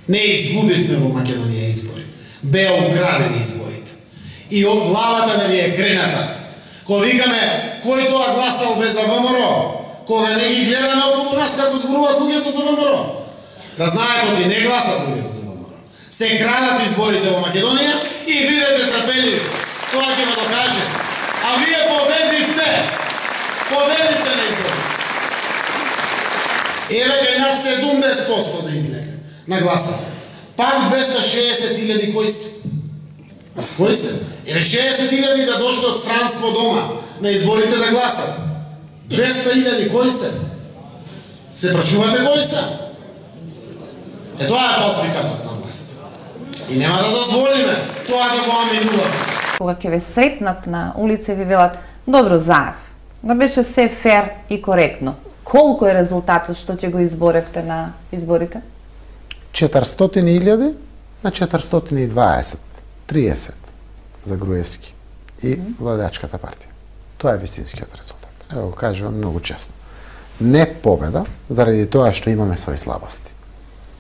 Не изгубивме во Македонија избори. Беа украдени изборите. И од главата да ви е крената. Кога викаме кој тоа гласал без за ВМРО, кога не ги гледаме околу нас како зборуваат луѓето за ВМРО. Да знаете оти не гласат луѓето за ВМРО. Се крадат изборите во Македонија и бидете трпеливи. Тоа ќе ме докаже. А вие победивте. Победивте на изборите. Еве кај нас 70% да излезе на гласа. Пак 260.000 кои се? Кои се? Еве 60.000 да дошли од странство дома на изборите да гласат. 200.000 кои се? Се прашувате кои се? Тоа е фалсификатот на власт. И нема да дозволиме тоа да го аминуваме. Кога ќе ве сретнат на улица и ви велат добро заев, да беше се фер и коректно. Колку е резултатот што ќе го изборевте на изборите? 400.000 на 420, 30 за Груевски и владачката партија. Тоа е вистинскиот резултат. Ево го кажувам многу честно. Не победа, заради тоа што имаме своји слабости.